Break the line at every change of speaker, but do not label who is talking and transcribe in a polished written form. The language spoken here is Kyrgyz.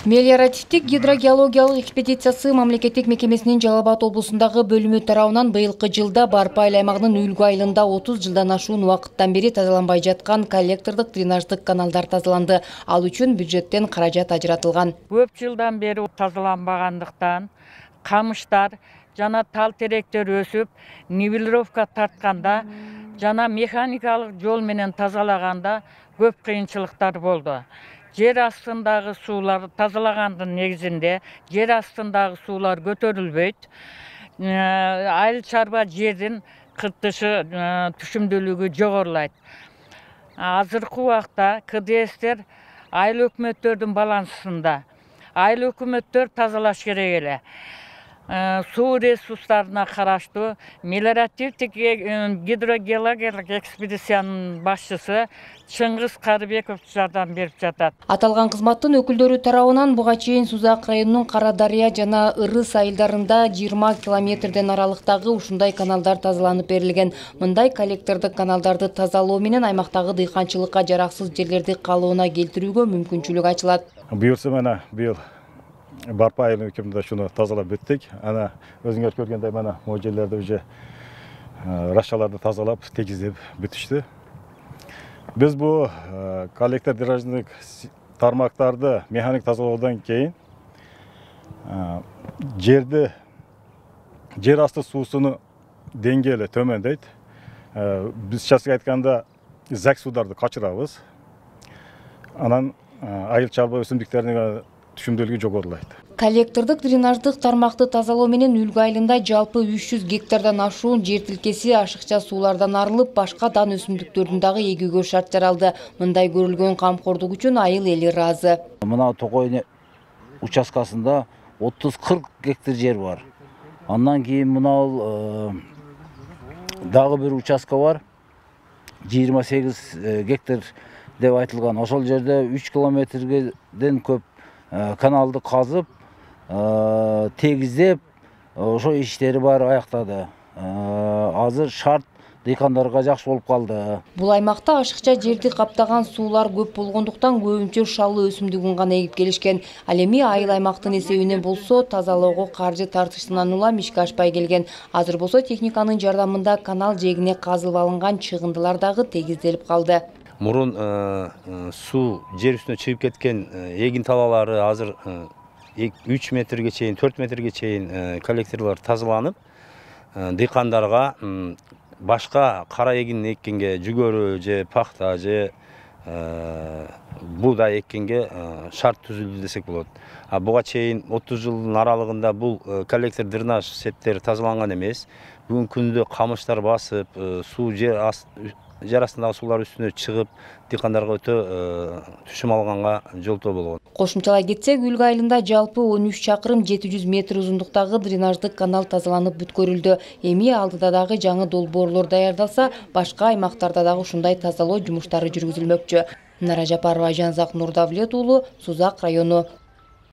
Мелиоративдик гидрогеологиялык экспедициясы мамлекеттик мекемесинин Жалал Абад облусундагы бөлүмү тарабынан быйылкы жылда Барпай аймагынын Үлгү айылында 30 жылдан ашуун убакыттан бери тазаланбай жаткан коллектордук дренаждык каналдар тазаланды. Ал үчүн бюджеттен каражат ажыратылган.
Көп жылдан бери тазаланбагандыктан камыштар жана тал теректер өсүп, нивелировка тартканда жана механикалык жол менен тазалаганда көп кыйынчылыктар болду. Жер астындагы суулар тазалагандын негизинде жер астындагы суулар көтөрүлбөйт. Айыл чарба жердин кыртышы түшүмдүүлүгү жогорулайт. Азыркы убакта КДСтер айыл өкмөттөрдүн балансында. Айыл өкмөттөр тазалаш керек эле. Суу ресурстарына караштуу мелиоративдик гидрогеологиялык экспедициянын башчысы Чыңгыз Карыбеков жардам берип жатат.
Аталган кызматтын өкүлдөрү тарабынан буга чейин Сузак районунун Кара Дарыя жана Ырыс айылдарында 20 километрден аралыктагы ушундай каналдар тазаланып берилген. Мындай коллектордук каналдарды тазалоо менен аймактагы дыйканчылыкка жараксыз жерлерди калыбына келтирүүгө мүмкүнчүлүк ачылат.
Буюрса мына быйыл Барпай айылы мекемесинде шуну тазалап бүттүк. Ана өзүңөр көргөндөй мына могу жерлерде уже рашаларды тазалап, тегиздеп бүтүштү. Биз бу коллектор дренаждык тармактарды механик тазалоодон кийин жер асты суусунун деңгээли төмөндөйт. Биз чачык айтканда зак суударды качырабыз. Анан айыл чарба өсүмдүктөрүнүн түшүмдүүлүгү жогорулайт.
Коллектордук дренаждык тармакты тазалоо менен Үлгү айылында жалпы 300 гектардан ашуун жер тилкеси ашыкча суулардан арылып, башка дан өсүмдүктөрдүн дагы эгүүгө шарт жаралды. Мындай көрүлгөн камкордук үчүн айыл эли ыраазы.
Мына Токой участкасында 30-40 гектар жер бар. Андан кийин мына дагы бир участка бар. 28 гектар деп айтылган. Ошол жерде 3 километрден көп каналды казып, тегиздеп, ошо иштери бар аяктады. Азыр шарт дыйкандарга жакшы болуп калды.
Бул аймакта ашыкча жерди каптаган суулар көп болгондуктан көбүнчө шалуу өсүмдүгүн гана эгип келишкен. Ал эми айыл аймактын эсебинен болсо тазалоого каржы тартышынан улам ишке ашпай келген. Азыр болсо техниканын жардамында канал жээгине казылып алынган чыгындылар дагы тегизделип калды.
Мурун суу жер үстүнө чыгып кеткен эгин талалары азыр 3 метрге чейин, 4 метрге чейин коллекторлор тазаланып, дыйкандарга башка кара эгин эккенге, жүгөрү же пахта же буудай эккенге шарт түзүлдү десек болот. Буга чейин 30 жылдын аралыгында бул коллектор дренаж сеттери тазаланган эмес. Бүгүнкү күндө камыштар басып, суу жер астындагы суулар үстүнө чыгып, дыйкандарга өтө түшүм алганга жолтоо болгон.
Кошумчалай кетсек, Үлгү айылында жалпы 13 чакырым 700 метр узундуктагы дренаждык канал тазаланып бүткөрүлдү. Эми алдыда дагы жаңы долбоорлор даярдалса, башка аймактарда дагы ушундай тазалоо жумуштары жүргүзүлмөкчү. Нара Жапарова, Жанзак Нурдавлет уулу, Сузак району.